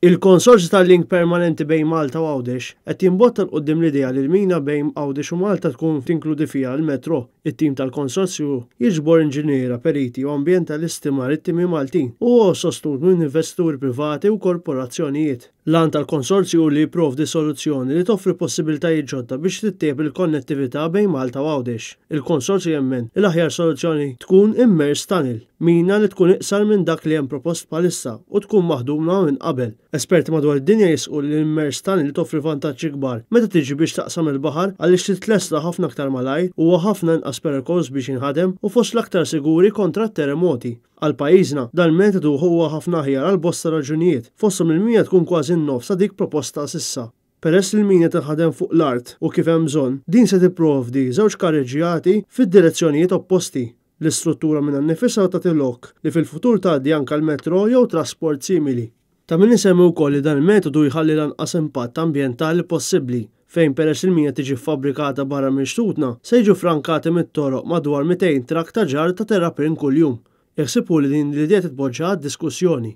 Il-Konsorzju tal-Link Permanenti bejn Malta u Għawdex qed jimbotta 'l quddiem l-idea li l-mina bejn Għawdex u Malta tkun tinkludi fiha l-metro. It-tim tal-konsorzju jiġbor inġiniera, periti u ambjentalisti marittimi Maltin u huwa sostnut minn investituri privati u korporazzjonijiet. L-għan tal-konsorzju hu li jipprovdi soluzzjoni li toffri possibiltajiet ġodda biex tittejjeb il-konnettività bejn Malta u Għawdex. Il-konsorzju jemmen li l-aħjar soluzzjoni tkun immersed tunnel, mina li tkun iqsar minn dak li hemm propost bħalissa u tkun maħduma minn qabel. Esperti madwar id-dinja jisħqu li l-immersed tunnel toffri vantaġġi kbar meta tiġi biex taqsam il-baħar għaliex titlesta ħafna aktar malajr, huwa ħafna inqas perikoluż biex jinħadem u fost l-aktar siguri kontra t-terremoti. Għal pajjiżna, dan il-metodu huwa ħafna aħjar għal bosta raġunijiet, fosthom li l-mina tkun kważi n-nofs ta' dik proposta s'issa. Peress li l-mina tinħadem fuq l-art u kif hemm bżonn, din se tipprovdi żewġ karreġġjati fid-direzzjonijiet opposti. L-istruttura minnha nnifisha tagħti lok li fil-futur tgħaddi anke l-metro jew trasport simili. Ta' min isemmi wkoll li dan il-metodu jħalli l-anqas impatt ambjentali possibbli, fejn peress li l-mina tiġi ffabbrikata barra minn xtutna, se jiġu ffrankati mit-toroq madwar 200 trakk ta' ġarr ta' terrapien kuljum. Il-ħsieb hu li din l-idea titpoġġa għad-diskussjoni.